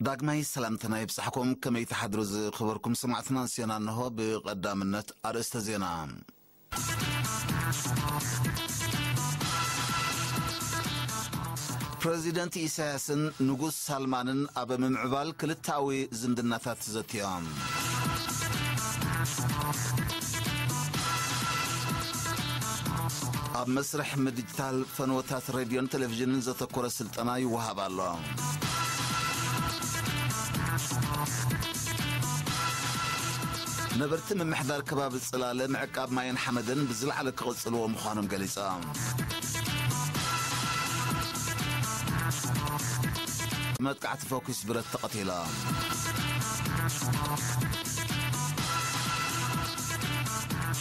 ዳግማይ ሰላምትና ይብጻሕኩም። ከመይ ትሓድሩ ዝኽበርኩም ሰማዕትና? ዜና እንሆ። ብቐዳምነት ኣርእስተ ዜና። ፕረዚደንት ኢሳያስን ንጉስ ሳልማንን ኣብ ምምዕባል ክልተኣዊ ዝምድናታት ዘትዮም። ኣብ መስርሕ ምድጅታል ፈነወታት ሬድዮን ቴሌቪዥንን ዘተኮረ ስልጠና ይወሃብ ኣሎ። ነበርቲ ምምሕዳር ከባቢ ጽላለ ምዕቃብ ማይን ሓመድን ብዝለዓለ ክቕጽልዎ ምዃኖም ገሊጾም። መጥቃዕቲ ፈኲስ ብረት ተቐቲሎም።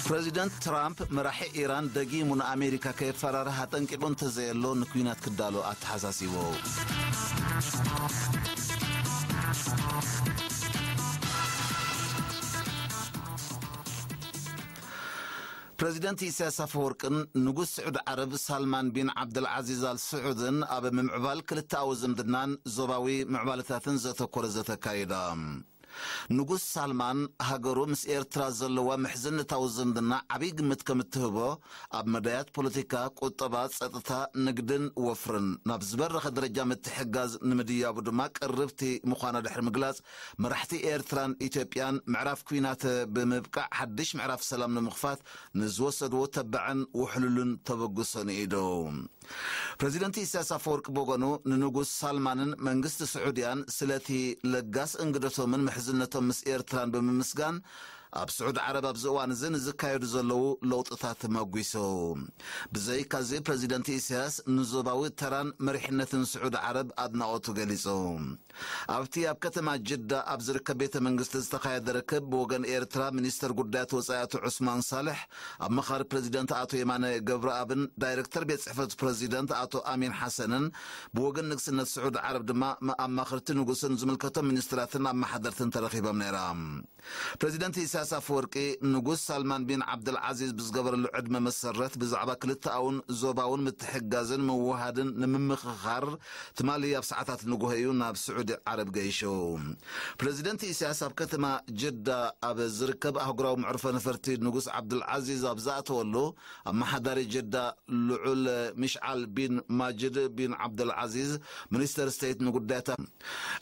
ፕረዚደንት ትራምፕ መራሒ ኢራን ደጊሙ ንኣሜሪካ ከየፈራርህ ኣጠንቂቑ እንተዘየሎ ንኲናት ክዳሎ ኣተሓሳሲቡ። ፕረዚደንት ኢሳያስ ኣፈወርቅን ንጉስ ስዑድ ዓረብ ሳልማን ቢን ዓብደልዓዚዝ ኣል ስዑድን ኣብ ምምዕባል ክልተኣዊ ዝምድናን ዞባዊ ምዕባለታትን ዘተኮረ ዘተ ኣካይዶም። ንጉስ ሳልማን ሃገሩ ምስ ኤርትራ ዘለዋ ምሕዝነታዊ ዝምድና ዓብዪ ግምት ከም እትህቦ፣ ኣብ መዳያት ፖለቲካ፣ ቁጠባ፣ ጸጥታ፣ ንግድን ወፍርን ናብ ዝበረኸ ደረጃ ምትሕግጋዝ ንምድያቡ ድማ ቅርብቲ ምዃና ድሕሪ ምግላጽ፣ መራሕቲ ኤርትራን ኢትዮጵያን ምዕራፍ ኲናት ብምብቃዕ ሓድሽ ምዕራፍ ሰላም ንምኽፋት ንዝወሰድዎ ተባዕን ውሕሉልን ተበግሶ ንኢዱ። ፕረዚደንት ኢሳያስ ኣፈወርቂ ብወገኑ ንንጉስ ሳልማንን መንግስቲ ስዑድያን ስለቲ ለጋስ እንግደቶምን ምሕዝነቶም ምስ ኤርትራን ብምምስጋን፣ ኣብ ስዑድ ዓረብ ኣብዚ እዋን እዚ ንዝካየዱ ዘለዉ ለውጥታት መጒሱ። ብዘይካዚ ፕረዚደንት ኢሳያስ ንዞባዊ ተራን መሪሕነትን ስዑድ ዓረብ ኣድናቖቱ ገሊጹ። ኣብቲ ኣብ ከተማ ጅዳ ኣብ ዝርከብ ቤተ መንግስቲ ዝተኻየደ ርክብ ብወገን ኤርትራ ሚኒስተር ጉዳያት ወጻኢ ኣቶ ዑስማን ሳልሕ፣ ኣማኻሪ ፕረዚደንት ኣቶ የማነ ገብረኣብን ዳይረክተር ቤት ጽሕፈት ፕረዚደንት ኣቶ ኣሚን ሓሰንን ብወገን ንግስነት ስዑድ ዓረብ ድማ ኣማኸርቲ ንጉስን ዝምልከቶም ሚኒስትራትን ኣመሓደርትን ተረኺቦም ነይሮም። ፕረዚደንት ኢሳያስ ኣፈወርቂ ንጉስ ሳልማን ቢን ዓብደልዓዚዝ ብዝገበረሉ ዕድመ መሰረት ብዛዕባ ክልተኣውን ዞባውን ምትሕግጋዝን ምውሃድን ንምምኽኻር ትማሊ ኣብ ሰዓታት ንጉሆ እዩ ናብ ስዑዲ ዓረብ ገይሹ። ፕረዚደንት ኢሳያስ ኣብ ከተማ ጀዳ ኣብ ዝርከብ ኣህጉራዊ መዕርፎ ነፈርቲ ንጉስ ዓብዱልዓዚዝ ኣብ ዝኣተወሉ፣ ኣመሓዳሪ ጀዳ ልዑል ሚሽዓል ቢን ማጅድ ቢን ዓብዱልዓዚዝ፣ ሚኒስተር ስቴት ንጉዳያት፣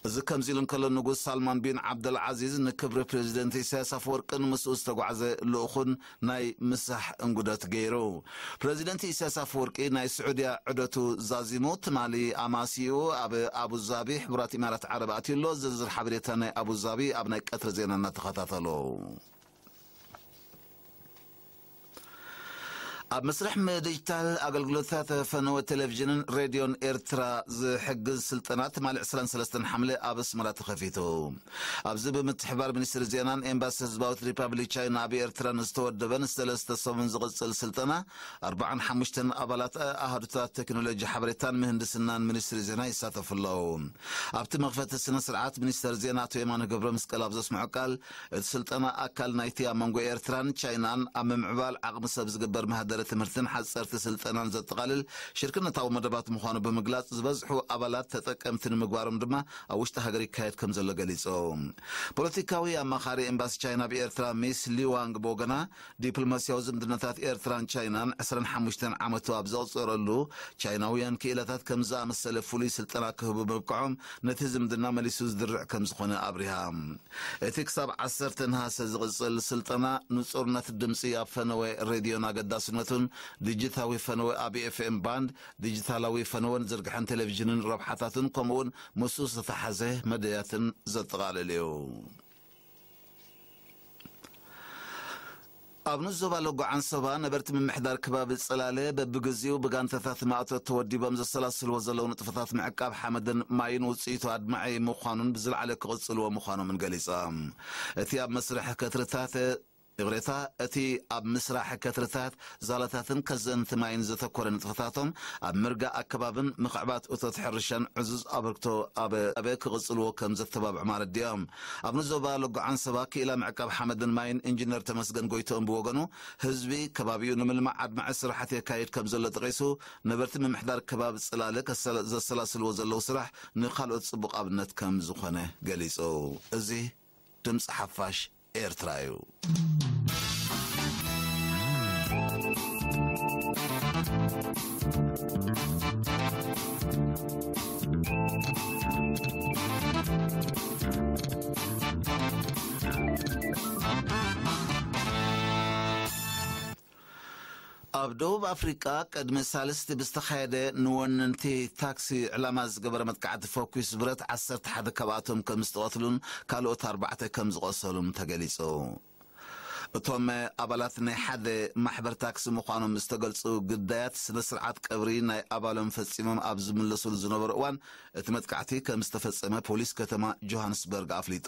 እዚ ከምዚ ኢሉ እንከሎ፣ ንጉስ ሳልማን ቢን ዓብዱልዓዚዝ ንክብሪ ፕሬዚደንት ኢሳያስ ኣፈወርቅን ምስኡ ዝተጓዕዘ ልኡኹን ናይ ምሳሕ እንጉደት ገይሩ። ፕረዚደንት ኢሳያስ ኣፈወርቂ ናይ ስዑድያ ዑደቱ ዛዚሙ፣ ትማሊ ኣማሲኡ ኣብ ኣቡዛቢ ሕቡራት ኢማራት ዓረብ ኣትዩ ኣሎ። ዝርዝር ሓበሬታ ናይ ኣቡዛቢ ኣብ ናይ ቀትሪ ዜናና ተኸታተሉ። ኣብ መስርሕ ምድጅታል ኣገልግሎታት ፈነወ ቴሌቪዥንን ሬድዮን ኤርትራ ዝሕግዝ ስልጠና ትማሊ ዕስራን ሰለስተን ሓምለ ኣብ ኣስመራ ተኸፊቱ። ኣብዚ ብምትሕባር ሚኒስትሪ ዜናን ኤምባሲ ህዝባዊት ሪፓብሊክ ቻይና ኣብ ኤርትራ ንዝተወደበን ሰለስተ ሰሙን ዝቕጽል ስልጠና ኣርባዓን ሓሙሽተን ኣባላት ኣሃዱታት ቴክኖሎጂ ሓበሬታን ምህንድስናን ሚኒስትሪ ዜና ይሳተፉ ኣለዉ። ኣብቲ መኽፈቲ ስነ ስርዓት ሚኒስተር ዜና ኣቶ የማነ ገብረ መስቀል ኣብ ዘስምዖ ቃል፣ እቲ ስልጠና ኣካል ናይቲ ኣብ መንጎ ኤርትራን ቻይናን ኣብ ምምዕባል ዓቕሚ ሰብ ዝግበር መሃደረ ትምህርትን ሓጸርቲ ስልጠናን ዘጠቓልል ሽርክነታዊ መደባት ምዃኑ ብምግላጽ፣ ዝበዝሑ ኣባላት ተጠቀምቲ ንምግባሮም ድማ ኣብ ውሽጢ ሃገር ይካየድ ከም ዘሎ ገሊጹ። ፖለቲካዊ ኣማኻሪ ኤምባሲ ቻይና ኣብ ኤርትራ ሚስ ሊዋንግ ብወገና፣ ዲፕሎማስያዊ ዝምድናታት ኤርትራን ቻይናን ዕስራን ሓሙሽተን ዓመቱ ኣብ ዘቑጸረሉ፣ ቻይናውያን ክኢላታት ከም ዝኣመሰለ ፍሉይ ስልጠና ክህቡ ምብቅዖም ነቲ ዝምድና መሊሱ ዝድርዕ ከም ዝኾነ ኣብሪሃ። እቲ ክሳብ ዓሰርተ ነሃሰ ዝቕጽል ስልጠና ንጹርነት ድምጺ ኣብ ፈነወ ሬድዮን ኣገዳስነቱን፣ ዲጂታዊ ፈነወ ኣብ ኤፍኤም ባንድ፣ ዲጂታላዊ ፈነወን ዝርግሐን ቴሌቪዥንን ረብሓታቱን፣ ከምኡውን ምስኡ ዝተተሓዘ መደያትን ዘጠቓልል እዩ። ኣብ ንዞባ ሎጎ ዓንሰባ ነበርቲ ምምሕዳር ከባቢ ጽላለ በብግዜኡ ብጋንታታት ማእቶት ተወዲቦም ዘሰላስልዎ ዘለዉ ንጥፈታት ምዕቃብ ሓመድን ማይን ውጽኢቱ ኣድማዒ ምዃኑን ብዝለዓለ ክቕጽልዎ ምዃኖምን ገሊጾም። እቲ ኣብ መስርሕ ከትርታት ይቕሬታ፣ እቲ ኣብ ምስራሕ ከትርታት፣ ዛላታትን ከዘንቲ ማይን ዘተኮረ ንጥፈታቶም፣ ኣብ ምርጋእ ኣከባብን ምኽዕባት እቶት ሕርሻን ዕዙዝ ኣበርክቶ ኣብ ኣበ ክቕጽልዎ ከም ዘተባብዑ ኣረዲኦም። ኣብ ንዞባ ሎጎ ዓንሰባ ክኢላ ምዕቃብ ሓመድን ማይን ኢንጂነር ተመስገን ጎይትኦም ብወገኑ፣ ህዝቢ ከባቢኡ ንምልማዕ ኣድማዒ ስራሓት የካይድ ከም ዘሎ ጠቒሱ፣ ነበርቲ ምምሕዳር ከባቢ ጽላለ ከሰላ-፣ ዘሰላስልዎ ዘለዉ ስራሕ ንኻልኦት ጽቡቕ ኣብነት ከም ዝኾነ ገሊጹ። እዚ ድምፂ ሓፋሽ ኤርትራ እዩ። ኣብ ደቡብ ኣፍሪቃ ቅድሚ ሳልስቲ ብዝተኻየደ ንወነንቲ ታክሲ ዕላማ ዝገበረ መጥቃዕቲ ፈኲስ ብረት ዓሰርተ ሓደ ካብኣቶም ከም ዝተቐትሉን ካልኦት ኣርባዕተ ከም ዝቖሰሉን ተገሊጹ። እቶም ኣባላት ናይ ሓደ ማሕበር ታክሲ ምዃኖም ዝተገልጹ ግዳያት ስነ ስርዓት ቀብሪ ናይ ኣባሎም ፈጺሞም ኣብ ዝምለሱሉ ዝነበሩ እዋን እቲ መጥቃዕቲ ከም ዝተፈጸመ ፖሊስ ከተማ ጆሃንስበርግ ኣፍሊጡ።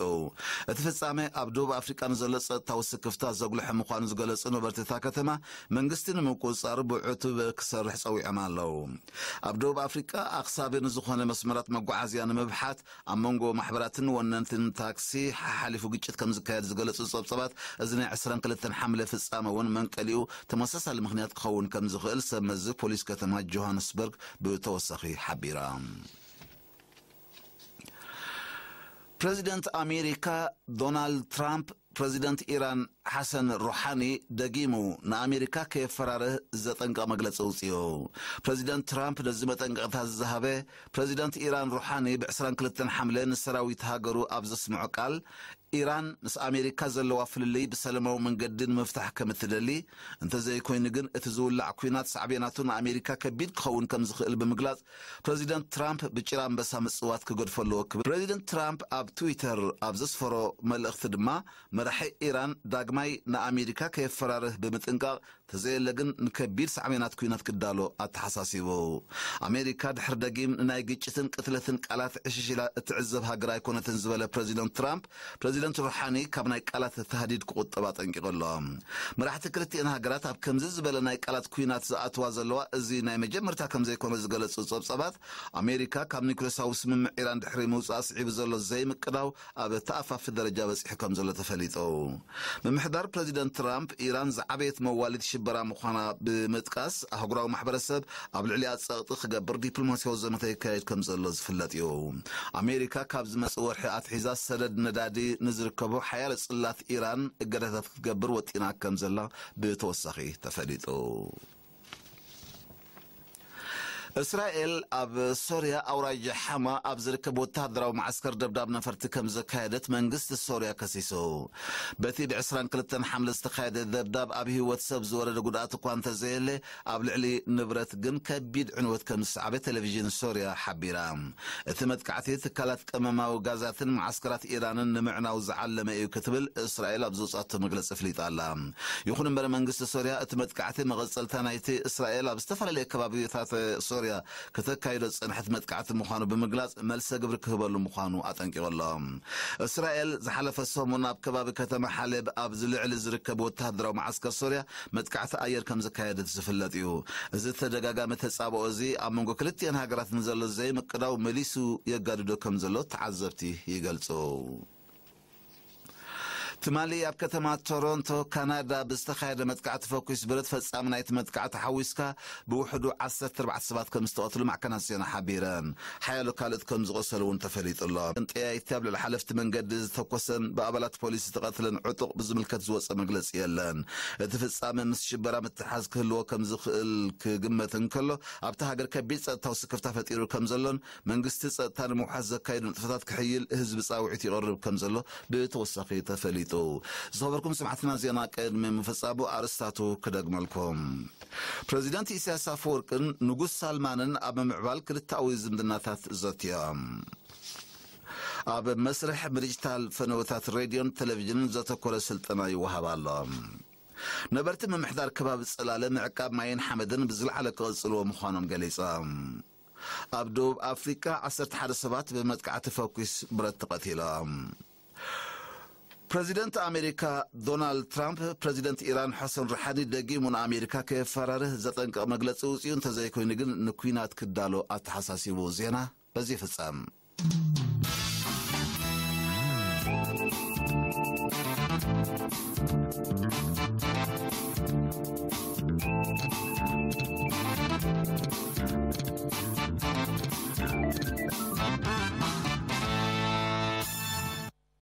እቲ ፍጻመ ኣብ ደቡብ ኣፍሪቃ ንዘሎ ጸጥታዊ ስክፍታ ዘጉልሐ ምዃኑ ዝገለጹ ነበርቲ እታ ከተማ መንግስቲ ንምቁጽጻሩ ብዕቱብ ክሰርሕ ጸዊዖም ኣለዉ። ኣብ ደቡብ ኣፍሪቃ ኣኽሳቢ ንዝኾነ መስመራት መጓዓዝያ ንምብሓት ኣብ መንጎ ማሕበራትን ወነንትን ታክሲ ሓሓሊፉ ግጭት ከም ዝካየድ ዝገለጹ ጸብጸባት፣ እዚ ናይ ዕስራን ክልተን ሓምለ ፍጻመ እውን መንቀሊኡ ተመሳሳሊ ምኽንያት ክኸውን ከም ዝኽእል ሰብ መዚ ፖሊስ ከተማ ጆሃንስበርግ ብተወሳኺ ሓቢራ። ፕረዚደንት ኣሜሪካ ዶናልድ ትራምፕ ፕረዚደንት ኢራን ሓሰን ሩሓኒ ደጊሙ ንኣሜሪካ ከየፈራርህ ዘጠንቀቕ መግለጺ ኣውጺኡ። ፕረዚደንት ትራምፕ ነዚ መጠንቀቕታ ዝሃበ ፕረዚደንት ኢራን ሩሓኒ ብ ዕስራን ክልተን ሓምለ ንሰራዊት ሃገሩ ኣብ ዘስምዖ ቃል፣ ኢራን ምስ ኣሜሪካ ዘለዋ ፍልልይ ብሰለማዊ መንገዲ ንምፍታሕ ከም እትደሊ፣ እንተዘይኮይኑ ግን እቲ ዝውላዕ ኲናት ሳዕቤናቱ ንኣሜሪካ ከቢድ ክኸውን ከም ዝኽእል ብምግላጽ፣ ፕረዚደንት ትራምፕ ብጭራ ኣንበሳ ምጽዋት ክገድፎ ኣለዎ ክብል ፕረዚደንት ትራምፕ ኣብ ትዊተር ኣብ ዘስፈሮ መልእኽቲ ድማ፣ መራሒ ኢራን ዳግማይ ንኣሜሪካ ከየፈራርህ ብምጥንቃቕ፣ ተዘየለ ግን ንከቢድ ሳዕቤናት ኲናት ክዳሎ ኣተሓሳሲቡ። ኣሜሪካ ድሕሪ ደጊም ንናይ ግጭትን ቅትለትን ቃላት ዕሽሽ ኢላ እትዕዘብ ሃገር ኣይኮነትን ዝበለ ፕረዚደንት ትራምፕ፣ ፕረዚደንት ሩሓኒ ካብ ናይ ቃላት ተሃዲድ ክቑጠብ ኣጠንቂቑ ኣሎ። መራሕቲ ክልቲኤን ሃገራት ኣብ ከምዚ ዝበለ ናይ ቃላት ኲናት ዝኣትዋ ዘለዋ እዚ ናይ መጀመርታ ከም ዘይኮነ ዝገለጹ ጸብጻባት፣ ኣሜሪካ ካብ ኒውክሌሳዊ ስምምዕ ኢራን ድሕሪ ምውጻኣ ስዒቡ ዘሎ ዘይምቅዳው ኣብ ተኣፋፊ ደረጃ በጺሑ ከም ዘሎ ተፈሊጡ። ምምሕዳር ፕረዚደንት ትራምፕ፣ ኢራን ዝዓበየት መዋሊት ሽበራ ምዃና ብምጥቃስ፣ ኣህጉራዊ ማሕበረሰብ ኣብ ልዕሊኣ ጸቕጢ ክገብር ዲፕሎማሲያዊ ዘመተ ይካየድ ከም ዘሎ ዝፍለጥ እዩ። ኣሜሪካ ካብ ዝመጽእ ወርሒ ኣትሒዛ ሰደድ ነዳዲ ንዝርከቦ ሓያሎ ጽላት ኢራን እገዳታት ክትገብር ወጢና ከም ዘላ ብተወሳኺ ተፈሊጡ። እስራኤል ኣብ ሶርያ ኣውራጃ ሓማ ኣብ ዝርከብ ወተሃደራዊ መዓስከር ደብዳብ ነፈርቲ ከም ዘካየደት መንግስቲ ሶርያ ከሲሱ። በቲ ብ ዕስራን ክልተን ሓምለ ዝተኻየደ ደብዳብ ኣብ ህይወት ሰብ ዝወረደ ጉድኣት እኳ እንተዘየለ፣ ኣብ ልዕሊ ንብረት ግን ከቢድ ዕንወት ከም ዝሰዓበ ቴሌቪዥን ሶርያ ሓቢራ። እቲ መጥቃዕቲ ትካላት ቀመማዊ ጋዛትን መዓስከራት ኢራንን ንምዕናው ዝዓለመ እዩ ክትብል እስራኤል ኣብ ዘውጻቶ መግለጺ ኣፍሊጣ ኣላ። ይኹን እምበር መንግስቲ ሶርያ እቲ መጥቃዕቲ መቐጸልታ ናይቲ እስራኤል ኣብ ዝተፈላለዩ ከባቢታት ሶርያ ከተካይዶ ዝጸንሐት መጥቃዕቲ ምዃኑ ብምግላጽ መልሰ ግብሪ ክህበሉ ምዃኑ ኣጠንቂቑ ኣሎ። እስራኤል ዝሓለፈ ሰሙን ኣብ ከባቢ ከተማ ሓሌብ ኣብ ዝልዕሊ ዝርከብ ወተሃደራዊ መዓስከር ሶርያ መጥቃዕቲ ኣየር ከም ዘካየደት ዝፍለጥ እዩ። እዚ ተደጋጋሚ ተጻብኦ እዚ ኣብ መንጎ ክልቲኤን ሃገራት ንዘሎ ዘይምቅዳው መሊሱ የጋድዶ ከም ዘሎ ተዓዘብቲ ይገልጹ። ትማሊ ኣብ ከተማ ቶሮንቶ ካናዳ ብዝተኻየደ መጥቃዕቲ ፈኲስ ብረት ፈጻሚ ናይቲ መጥቃዕቲ ሓዊስካ ብውሕዱ ዓሰርተ ኣርባዕተ ሰባት ከም ዝተቐትሉ ማዕከናት ዜና ሓቢረን። ሓያሎ ካልኦት ከም ዝቖሰሉ እውን ተፈሊጡ ኣሎ። ጠያይቲ ኣብ ልዕሊ ሓለፍቲ መንገዲ ዝተኮሰን ብኣባላት ፖሊስ ዝተቐትለን ዕጡቕ ብዝምልከት ዝወጸ መግለጺ የለን። እቲ ፍጻመ ምስ ሽበራ ምትሓዝ ክህልዎ ከም ዝኽእል ክግመት እንከሎ፣ ኣብታ ሃገር ከቢድ ጸጥታዊ ስክፍታ ፈጢሩ ከም ዘሎን መንግስቲ ጸጥታ ንምውሓስ ዘካየዱ ንጥፈታት ክሕይል ህዝቢ ጻውዒት ይቐርብ ከም ዘሎ ብተወሳኺ ተፈሊጡ። ዝኸበርኩም ሰማዕትና ዜና ቅድሚ ምፍጻሙ ኣርእስታቱ ክደግመልኩም። ፕረዚደንት ኢሳያስ ኣፈወርቅን ንጉስ ሳልማንን ኣብ ምምዕባል ክልተኣዊ ዝምድናታት ዘትዮም። ኣብ መስርሕ ብዲጂታል ፈነወታት ሬድዮን ቴሌቪዥንን ዘተኮረ ስልጠና ይወሃብ ኣሎ። ነበርቲ ምምሕዳር ከባቢ ጽላለ ምዕቃብ ማይን ሓመድን ብዝለዓለ ክቕጽልዎ ምዃኖም ገሊጾም። ኣብ ደቡብ ኣፍሪቃ ዓሰርተ ሓደ ሰባት ብመጥቃዕቲ ፈኲስ ብረት ተቐቲሎም። ፕረዚደንት ኣሜሪካ ዶናልድ ትራምፕ፣ ፕረዚደንት ኢራን ሐሰን ሩሓኒ ደጊሙ ንኣሜሪካ ከየፈራርህ ዘጠንቅቕ መግለጺ ውጽኡ እንተዘይኮይኑ ግን ንኲናት ክዳሎ ኣተሓሳሲቡ። ዜና በዚ ይፍጸም።